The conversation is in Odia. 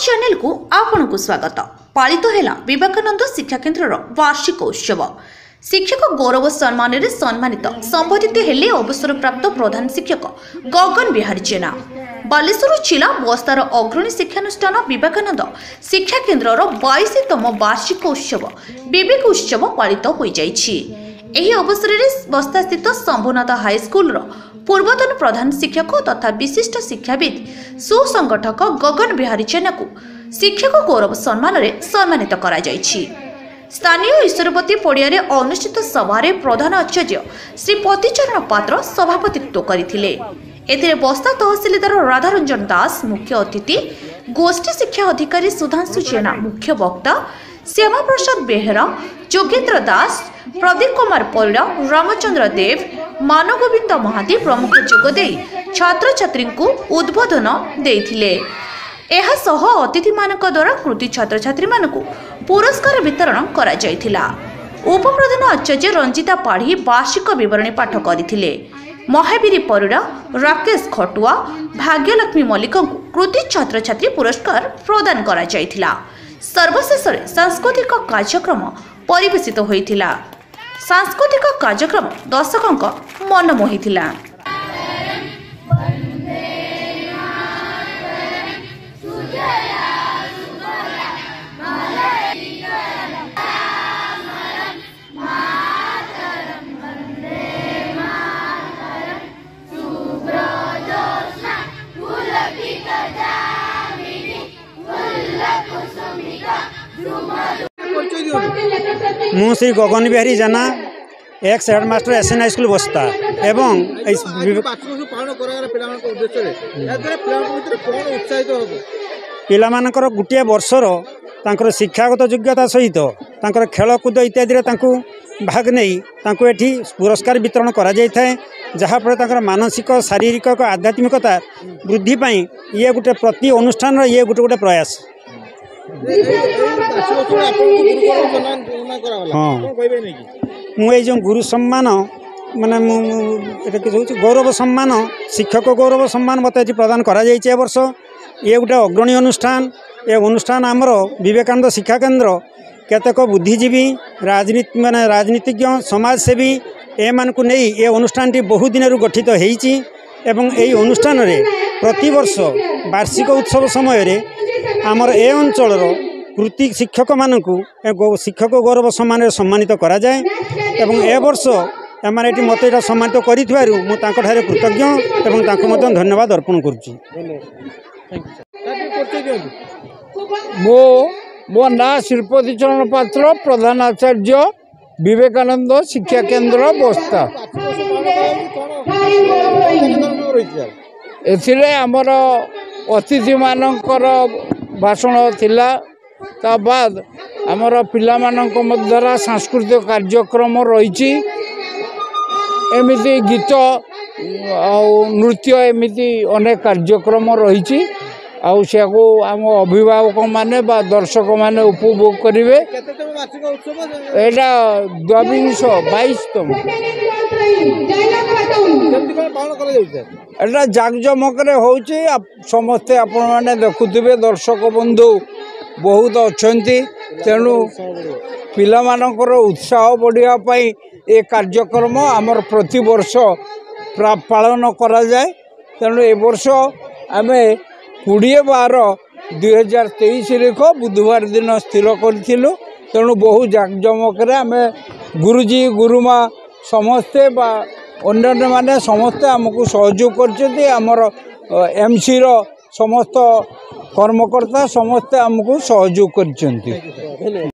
ଚ୍ୟାନେଲକୁ ଆପଣଙ୍କୁ ସ୍ୱାଗତ। ପାଳିତ ହେଲା ବିବେକାନନ୍ଦ ଶିକ୍ଷା କେନ୍ଦ୍ରର ବାର୍ଷିକ ଉତ୍ସବ। ଶିକ୍ଷକ ଗୌରବ ସମ୍ମାନରେ ସମ୍ମାନିତ ସମ୍ବୋଧିତ ହେଲେ ଅବସରପ୍ରାପ୍ତ ପ୍ରଧାନ ଶିକ୍ଷକ ଗଗନ ବିହାରୀ ଜେନା। ବାଲେଶ୍ୱର ଜିଲ୍ଲା ବସ୍ତାର ଅଗ୍ରଣୀ ଶିକ୍ଷାନୁଷ୍ଠାନ ବିବେକାନନ୍ଦ ଶିକ୍ଷା କେନ୍ଦ୍ରର 22ତମ ବାର୍ଷିକ ଉତ୍ସବ ବିବେକ ଉତ୍ସବ ପାଳିତ ହୋଇଯାଇଛି। ଏହି ଅବସରରେ ବସ୍ତାସ୍ଥିତ ଶମ୍ଭୁନାଥ ହାଇସ୍କୁଲର ପୂର୍ବତନ ପ୍ରଧାନ ଶିକ୍ଷକ ତଥା ବିଶିଷ୍ଟ ଶିକ୍ଷାବିତ୍ ସୁସଂଗଠକ ଗଗନ ବିହାରୀ ଜେନାକୁ ଶିକ୍ଷକ ଗୌରବ ସମ୍ମାନରେ ସମ୍ମାନିତ କରାଯାଇଛି। ସ୍ଥାନୀୟ ଈଶ୍ୱରବତୀ ପଡ଼ିଆରେ ଅନୁଷ୍ଠିତ ସଭାରେ ପ୍ରଧାନ ଆଚାର୍ଯ୍ୟ ଶ୍ରୀ ପତିଚରଣ ପାତ୍ର ସଭାପତିତ୍ୱ କରିଥିଲେ। ଏଥିରେ ବସ୍ତା ତହସିଲଦାର ରାଧାରଞ୍ଜନ ଦାସ ମୁଖ୍ୟ ଅତିଥି, ଗୋଷ୍ଠୀ ଶିକ୍ଷା ଅଧିକାରୀ ସୁଧାଂଶୁ ଜେନା ମୁଖ୍ୟ ବକ୍ତା, ଶ୍ୟାମାପ୍ରସାଦ ବେହେରା, ଯୋଗେନ୍ଦ୍ର ଦାସ, ପ୍ରଦୀପ କୁମାର ପରିଡ଼ା, ରାମଚନ୍ଦ୍ର ଦେବ, ମାନଗୋବିନ୍ଦ ମହାନ୍ତି ପ୍ରମୁଖ ଯୋଗଦେଇ ଛାତ୍ରଛାତ୍ରୀଙ୍କୁ ଉଦ୍ବୋଧନ ଦେଇଥିଲେ। ଏହାସହ ଅତିଥିମାନଙ୍କ ଦ୍ୱାରା କୃତି ଛାତ୍ରଛାତ୍ରୀମାନଙ୍କୁ ପୁରସ୍କାର ବିତରଣ କରାଯାଇଥିଲା। ଉପପ୍ରଧାନ ଆଚାର୍ଯ୍ୟ ରଞ୍ଜିତା ପାଢ଼ୀ ବାର୍ଷିକ ବିବରଣୀ ପାଠ କରିଥିଲେ। ମହାବୀର ପରିଡ଼ା, ରାକେଶ ଖଟୁଆ, ଭାଗ୍ୟଲକ୍ଷ୍ମୀ ମଲ୍ଲିକଙ୍କୁ କୃତି ଛାତ୍ରଛାତ୍ରୀ ପୁରସ୍କାର ପ୍ରଦାନ କରାଯାଇଥିଲା। ସର୍ବଶେଷରେ ସାଂସ୍କୃତିକ କାର୍ଯ୍ୟକ୍ରମ ପରିବେଷିତ ହୋଇଥିଲା। ସାଂସ୍କୃତିକ କାର୍ଯ୍ୟକ୍ରମ ଦର୍ଶକଙ୍କ ମନ ମୋହିଥିଲା। ମୁଁ Shri Gagan Bihari Jena, X headmaster, S N high school, ବସ୍ତା। ଏବଂ ଏଇ ପାଳନ କରାଗଲା ପିଲାମାନଙ୍କ ଉଦ୍ଦେଶ୍ୟରେ, ଏହାଦ୍ୱାରା ପିଲାମାନଙ୍କ ଭିତରେ କ'ଣ ଉତ୍ସାହିତ ହେବ? ପିଲାମାନଙ୍କର ଗୋଟିଏ ବର୍ଷର ତାଙ୍କର ଶିକ୍ଷାଗତ ଯୋଗ୍ୟତା ସହିତ ତାଙ୍କର ଖେଳକୁଦ ଇତ୍ୟାଦିରେ ତାଙ୍କୁ ଭାଗ ନେଇ ତାଙ୍କୁ ଏଠି ପୁରସ୍କାର ବିତରଣ କରାଯାଇଥାଏ, ଯାହାଫଳରେ ତାଙ୍କର ମାନସିକ, ଶାରୀରିକ, ଆଧ୍ୟାତ୍ମିକତା ବୃଦ୍ଧି ପାଇଁ ଇଏ ଗୋଟେ ପ୍ରତି ଅନୁଷ୍ଠାନର ଇଏ ଗୋଟେ ଗୋଟେ ପ୍ରୟାସ। ହଁ, ମୁଁ ଏଇ ଯେଉଁ ଗୁରୁ ସମ୍ମାନ, ମାନେ ମୁଁ ଏଟା କିଛି ହେଉଛି ଗୌରବ ସମ୍ମାନ, ଶିକ୍ଷକ ଗୌରବ ସମ୍ମାନ ମୋତେ ଏଠି ପ୍ରଦାନ କରାଯାଇଛି ଏ ବର୍ଷ। ଇଏ ଗୋଟେ ଅଗ୍ରଣୀ ଅନୁଷ୍ଠାନ। ଏ ଅନୁଷ୍ଠାନ ଆମର ବିବେକାନନ୍ଦ ଶିକ୍ଷା କେନ୍ଦ୍ର କେତେକ ବୁଦ୍ଧିଜୀବୀ, ରାଜନୀତି ମାନେ ରାଜନୀତିଜ୍ଞ, ସମାଜସେବୀ ଏମାନଙ୍କୁ ନେଇ ଏ ଅନୁଷ୍ଠାନଟି ବହୁ ଦିନରୁ ଗଠିତ ହେଇଛି। ଏବଂ ଏହି ଅନୁଷ୍ଠାନରେ ପ୍ରତିବର୍ଷ ବାର୍ଷିକ ଉତ୍ସବ ସମୟରେ ଆମର ଏ ଅଞ୍ଚଳର କୃତି ଶିକ୍ଷକମାନଙ୍କୁ ଶିକ୍ଷକ ଗୌରବ ସମ୍ମାନରେ ସମ୍ମାନିତ କରାଯାଏ। ଏବଂ ଏ ବର୍ଷ ଏମାନେ ଏଠି ମୋତେ ଏଇଟା ସମ୍ମାନିତ କରିଥିବାରୁ ମୁଁ ତାଙ୍କଠାରେ କୃତଜ୍ଞ ଏବଂ ତାଙ୍କୁ ମଧ୍ୟ ଧନ୍ୟବାଦ ଅର୍ପଣ କରୁଛି। ମୋ ନାଁ ଶ୍ରୀପତି ଚରଣ ପାତ୍ର, ପ୍ରଧାନ ଆଚାର୍ଯ୍ୟ, ବିବେକାନନ୍ଦ ଶିକ୍ଷା କେନ୍ଦ୍ର, ବସ୍ତା। ଏଥିରେ ଆମର ଅତିଥିମାନଙ୍କର ଭାଷଣ ଥିଲା, ତା ବାଦ ଆମର ପିଲାମାନଙ୍କ ଦ୍ୱାରା ସାଂସ୍କୃତିକ କାର୍ଯ୍ୟକ୍ରମ ରହିଛି। ଏମିତି ଗୀତ ଆଉ ନୃତ୍ୟ, ଏମିତି ଅନେକ କାର୍ଯ୍ୟକ୍ରମ ରହିଛି, ଆଉ ସେଆକୁ ଆମ ଅଭିଭାବକମାନେ ବା ଦର୍ଶକମାନେ ଉପଭୋଗ କରିବେ। ଏଇଟା ଦ୍ୱାବିଂଶ 22ତମ। ଏଇଟା ଜାକଜମକରେ ହେଉଛି, ସମସ୍ତେ ଆପଣମାନେ ଦେଖୁଥିବେ, ଦର୍ଶକ ବନ୍ଧୁ ବହୁତ ଅଛନ୍ତି। ତେଣୁ ପିଲାମାନଙ୍କର ଉତ୍ସାହ ବଢ଼ିବା ପାଇଁ ଏ କାର୍ଯ୍ୟକ୍ରମ ଆମର ପ୍ରତିବର୍ଷ ପାଳନ କରାଯାଏ। ତେଣୁ ଏ ବର୍ଷ ଆମେ 20/12/2023 ଲେଖ ବୁଧବାର ଦିନ ସ୍ଥିର କରିଥିଲୁ। ତେଣୁ ବହୁ ଜାକଜମକରେ ଆମେ ଗୁରୁଜୀ, ଗୁରୁମା ସମସ୍ତେ ବା ଅନ୍ୟାନ୍ୟମାନେ ସମସ୍ତେ ଆମକୁ ସହଯୋଗ କରିଛନ୍ତି। ଆମର ଏମ୍ସିର ସମସ୍ତ କର୍ମକର୍ତ୍ତା ସମସ୍ତେ ଆମକୁ ସହଯୋଗ କରିଛନ୍ତି।